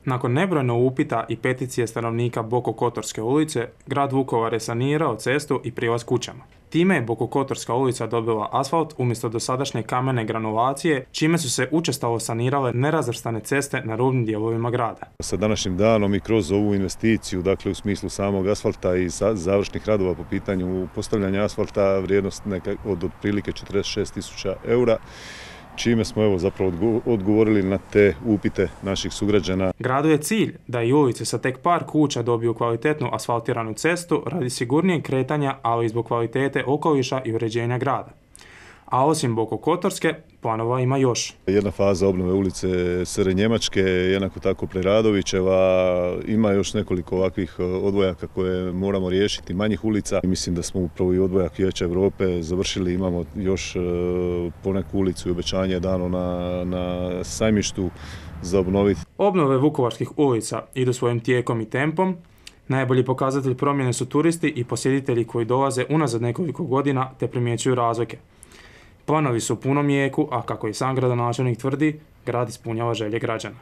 Nakon nebrojno upita i peticije stanovnika Bokokotorske ulice, grad Vukovar je sanirao cestu i prilaz kućama. Time je Bokokotorska ulica dobila asfalt umjesto dosadašnje kamene granulacije, čime su se učestalo sanirale nerazvrstane ceste na rubnim dijelovima grada. Sa današnjim danom i kroz ovu investiciju, dakle u smislu samog asfalta i završnih radova po pitanju postavljanja asfalta, vrijednost od otprilike 46.000 eura, čime smo zapravo odgovorili na te upite naših sugrađana. Gradu je cilj da i ulice sa tek par kuća dobiju kvalitetnu asfaltiranu cestu radi sigurnijeg kretanja, ali i zbog kvalitete okoliša i uređenja grada. A osim Bokokotorske, planova ima još. Jedna faza obnove ulice Sre Njemačke, jednako tako Preradovićeva, ima još nekoliko ovakvih odvojaka koje moramo riješiti, manjih ulica. Mislim da smo upravo i odvojak Vijeća Europe završili, imamo još poneku ulicu i obećanje je dano na sajmištu za obnoviti. Obnove vukovarskih ulica idu svojim tijekom i tempom. Najbolji pokazatelj promjene su turisti i posjetitelji koji dolaze unazad nekoliko godina te primjećuju razlike. Planovi su u punom jeku, a kako i sam gradonačelnik tvrdi, grad ispunjava želje građana.